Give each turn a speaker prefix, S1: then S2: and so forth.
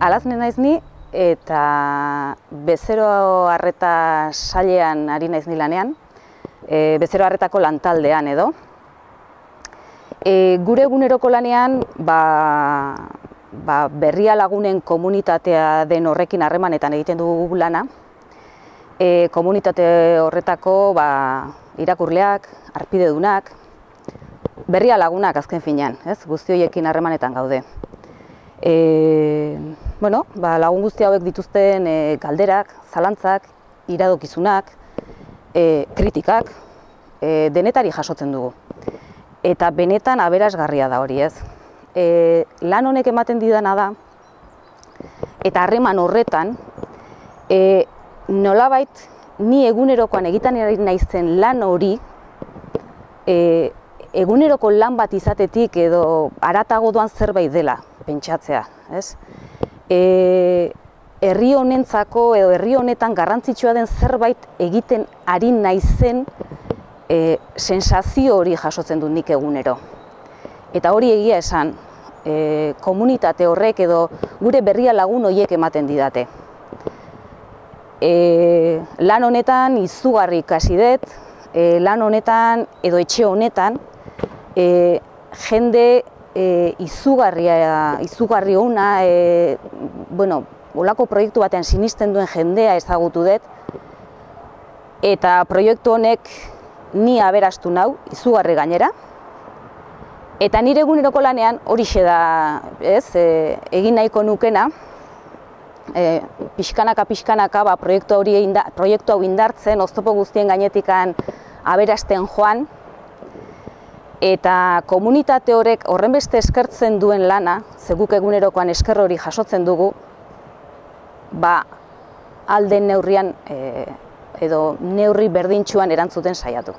S1: Alazne naiz ni eta bezero arreta sailean ari naiz ni lanean, bezero arretako lantaldean edo. Gure eguneroko lanean Berria Lagunen komunitatea den horrekin harremanetan egiten dugu lana. Komunitate horretako irakurleak, harpidedunak, Berria Lagunak azken finean, guzti horiekin harremanetan gaude. Lagun guzti hauek dituzten galderak, zalantzak, iradokizunak, kritikak, denetari jasotzen dugu. Eta benetan aberasgarria da hori, ez. Lan honek ematen didana da, eta harreman horretan, nolabait ni egunerokoan egiten ari naizen lan hori, eguneroko lan bat izatetik edo haratago doan zerbait dela pentsatzea, ez? Herri honentzako edo herri honetan garrantzitsua den zerbait egiten ari naizen sensazio hori jasotzen dut nik egunero. Eta hori egia esan, komunitate horrek edo gure Berria Lagun horiek ematen didate. Lan honetan izugarri ikasi dut, lan honetan edo etxe honetan jende izugarri ona, olako proiektu batean sinisten duen jendea ezagutu dut, eta proiektu honek ni aberastu nau, izugarri gainera, eta nire eguneroko lanean horixe da, egin nahiko nukena, pixkanaka proiektu hau indartzen, oztopo guztien gainetikan aberasten joan, eta komunitate horrek horrenbeste eskertzen duen lana, ze guk egunerokoan esker hori jasotzen dugu, ahal den neurrian edo neurri berdintsuan erantzuten saiatu.